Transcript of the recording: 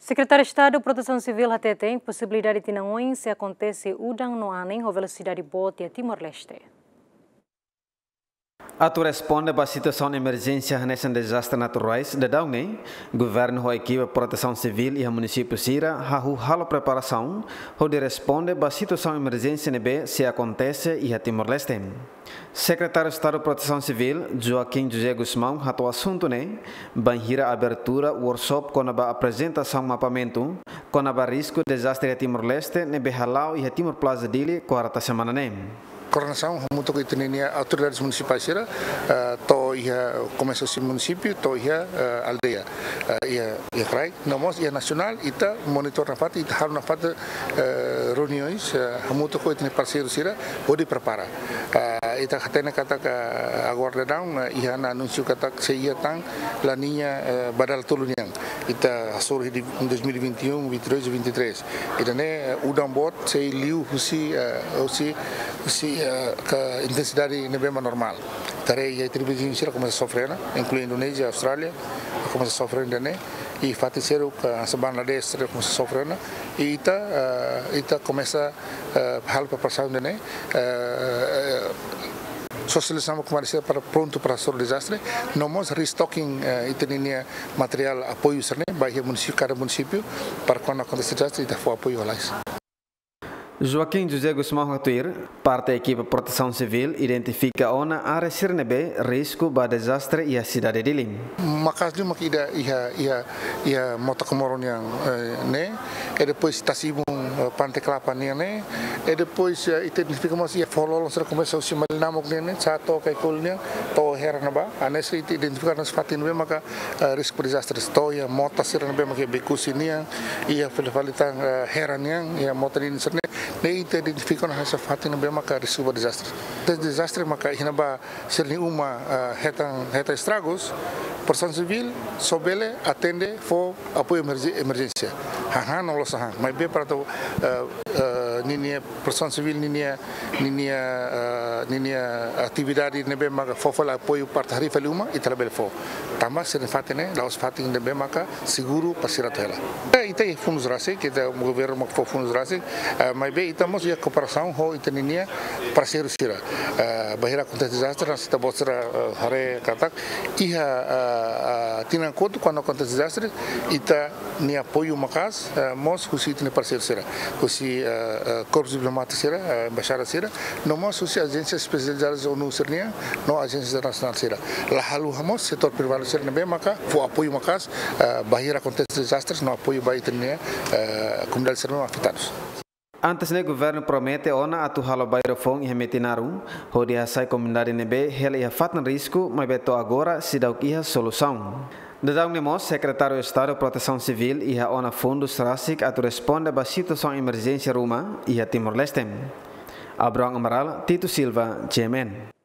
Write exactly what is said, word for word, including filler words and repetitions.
Sekretáriu Estadu Protesaun Sivíl hateten posibilidade tinan oin sei akontese udan no anin ho velosidade boot iha Timor-Leste. Atu responde ba situasaun emerjénsia hanesan dezastre naturais daudaun ne'e, governu ho ekipa protesaun sivíl iha munisípiu sira hahú halo preparasaun hodi responde ba situasaun emerjénsia ne'ebé sei akontese iha Timor-Leste. Sekretáriu Estadu Protesaun Sivíl, Joaquim José Gusmão, hato'o asuntu ne'e bainhira abertura workshop kona-ba aprezentasaun mapamentu kona-ba risku dezastre iha Timor-Leste ne'ebé hala'o iha Timor Plaza Dili, kuarta semana ne'e. Koordenasaun hamutuk ho ita-nia autoridades munisipais sira, eh, to'o iha komesa husi munisípiu, to'o iha, eh, aldeia, eh, iha, iha rai. No mós iha nasionál, ita monitor nafatin, ita halo nafatin, eh, reuniões, eh, hamutuk ho ita-nia parseiru sira, hodi prepara. Eh, ita hatene katak, eh, agora daudaun, eh, iha ona anúnsiu katak sei iha tan La Niña, eh, ba dala tolu nian. Ita hasoru iha dois mil e vinte e um, vinte e dois e vinte e três. Ida-ne'e, eh, udan boot sei liu husi, eh, husi, husi, eh, ka intensidade ne'ebé mak normál. Ita haree iha ita-nia viziñu sira komesa sofre ona, inklui Indonézia, Austrália, komesa sofre ona ida-ne'e. I fatin seluk, eh, hanesan Bangladesh sira komesa sofre ona. I ita, eh, ita komesa, eh, halo preparasaun ida-ne'e, eh, eh, sosializasaun ba komunidade sira para prontu para hasoru dezastre. No mós restocking, eh, ita-nia materiál apoiu sira-ne'e ba iha munisípiu, kada munisípiu, para kuandu akontese dezastre, ita fó apoiu lalais. Joaquim José Gusmão haktuir, parte ekipa protesaun sivíl identifika ona área sira ne'ebé risku ba dezastre iha sidade Dili. Maka'as liu mak ida iha, iha, iha Mota Comoro nian, eh, ne'e, i depois Tasi Ibun, eh, Pante Klapa nian ne'e, i depois, eh, ita identifika mós iha foho-lolon sira komesa husi Malinamuk nian ne'e, sa'e to'o Kaikoli nian, to'o Hera ne'ebá, hanesan ita identifika hanesan fatin ne'ebé maka, eh, risku dezastre. To'o iha mota sira ne'ebé maka Bekusi nian, iha fali-fali tan, eh, Hera nian, iha mota ninin sira-ne'e, ne'e ita identifika hanesan fatin ne'ebé maka risku ba dezastre. Des-, dezastre maka iha ne'ebá sira-nia uma, eh, hetan, hetan estragus, Protesaun Sivíl só bele atende fó apoiu emerjé-, emerjénsia. Hahán no la'ós hahán. Maibé para atu, eh, eh, ninia Protesaun Sivíl ninia, ninia, eh, ninia atividade ne'ebé maka fó fali apoiu para atu harii fali uma, ita labele fó. Tanba sira-nia fatin ne'e la'ós fatin ne'ebé maka seguru para sira atu hela. Eh, ita iha fundus rasik, ita governu mak fó fundus rasik, eh, maibé ita mós iha kooperasaun ho ita ninia parseiru sira. Eh, bainhira akontese dezastre, hanesan ita-boot sira, eh, haree katak, iha, eh, eh, tinan kotuk kuandu akontese dezastre, ita-nia apoiu maka'as, eh, mós husi ita-nia parseiru sira. Husi, eh, eh, korpu diplomátiku sira, eh, embaixada sira, no mós husi ajénsia espesializada ONU sira-nian, no ajénsia internasionál sira. La haluha mós setór privadu sira ne'ebé maka fó apoiu maka'as, eh, bainhira akontese dezastre, no apoiu ba ita-nia, eh, komunidade sira ne'ebé afetadu. Antes ne'e governu promete ona atu halo bairru foun iha Metinaro, hodi hasai komunidade ne'ebé hela iha fatin risku, maibé to'o agora seidauk iha solusaun. Daudaun ne'e mós Sekretáriu Estadu Protesaun Sivíl iha ona fundus rasik atu responde ba situasaun emerjénsia ruma iha Timor-Leste. Abrão Amaral, Tito Silva, G M N.